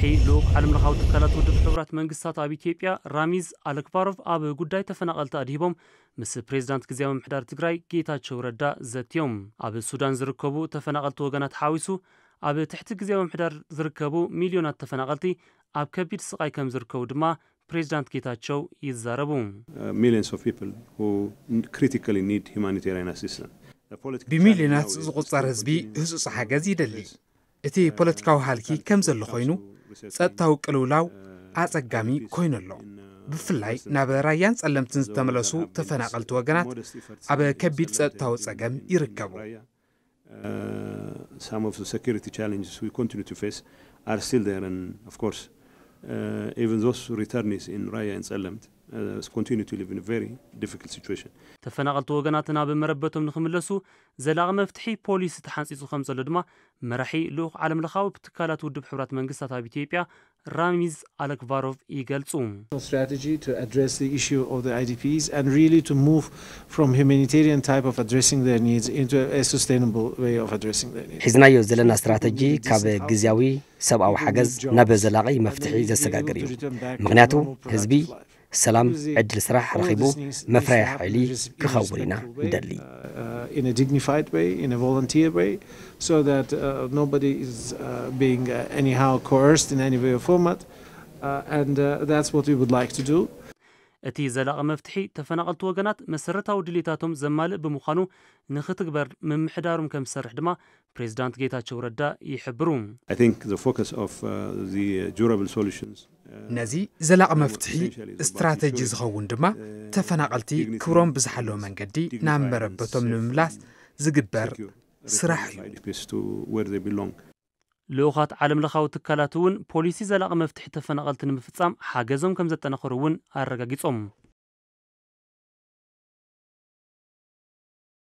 ልኡኽ ዓለም ለኻዊ ትካላት ውድብ ሕቡራት መንግስታት ኣብ ኢትዮጵያ ራሚዝ ኣለክባሮቭ ኣብ ጉዳይ ተፈናቐልቲ ኣድሂቦም ምስ ፕሬዚዳንት ግዜያዊ ምምሕዳር ትግራይ ጌታቸው ረዳ ዘትዮም። ኣብ ሱዳን ዝርከቡ ተፈናቐልቲ ወገናት ሓዊሱ ኣብ ትሕቲ ግዜያዊ ምምሕዳር ዝርከቡ ሚልዮናት ተፈናቐልቲ ኣብ ከቢድ ስቓይ ከም ዝርከቡ ድማ ፕሬዚዳንት ጌታቸው ይዛረቡ። Uh, millions of people who n- critically need humanitarian assistance. The political ብሚልዮናት challenge now is ዝቑጸር to ህዝቢ continue ህጹጽ ሓገዝ ይደሊ። እቲ ፖለቲካዊ ሃልኪ ከም ዘሎ ኮይኑ ጸጥታዊ ቅልውላው ኣጸጋሚ ኮይኑ ኣሎ። ብፍላይ ናብ ራያን ጸለምትን ዝተመለሱ ተፈናቐልቲ ወገናት ኣብ ከቢድ ጸጥታዊ ጸገም ይርከቡ። Uh, some of the security challenges we continue to face are still there, and of course, uh, even those returnees in Raya and Tsellemt uh, continue to live in a very difficult situation. ተፈናቐልቲ ወገናት ናብ መረበቶም ንኽምለሱ ዘላቒ መፍትሒ ፖሊሲ ተሓንፂፁ ከም ዘሎ ድማ መራሒ ልኡኽ ዓለም ለኻዊ ትካላት ውድብ ሕቡራት መንግስታት ኣብ ኢትዮጵያ ራሚዝ ኣለክቫሮቭ ይገልፁ። strategy to address the issue of the I D Ps and really to move from humanitarian type of addressing their needs into a sustainable way of addressing their needs. ሒዝናዮ ዘለና ስትራተጂ ካብ ግዝያዊ ሰብኣዊ ሓገዝ ናብ ዘላቒ መፍትሒ ዘሰጋግር እዩ። ምክንያቱ ህዝቢ ሰላም፣ ዕድል ስራሕ ረኺቡ መፍረያ ሓይሊ ክኸውን ኢና ንደሊ። Uh, in a dignified way, in a volunteer way, so that uh, nobody is uh, being uh, anyhow coerced in any way or format. Uh, and uh, that's what we would like to do. እቲ ዘላቒ መፍትሒ ተፈናቐልቲ ወገናት መሰረታዊ ድሌታቶም ዘማልእ ብምዃኑ ንኽትግበር ምምሕዳሮም ከም ዝሰርሕ ድማ ፕሬዚዳንት ጌታቸው ረዳ ይሕብሩ። I think the focus of uh, the uh, durable solutions. Uh, ነዚ ዘላቒ መፍትሒ ስትራተጂ ዝኸውን ድማ ተፈናቐልቲ ክብሮም ብዝሓለወ መንገዲ ናብ መረበቶም ንምምላስ ዝግበር ስራሕ እዩ። I D Ps to where they belong. ልኡኻት ዓለም ለኻዊ ትካላት እውን ፖሊሲ ዘላቒ መፍትሒ ተፈናቐልቲ ንምፍፃም ሓገዞም ከም ዘጠናኸሩ እውን ኣረጋጊፆም።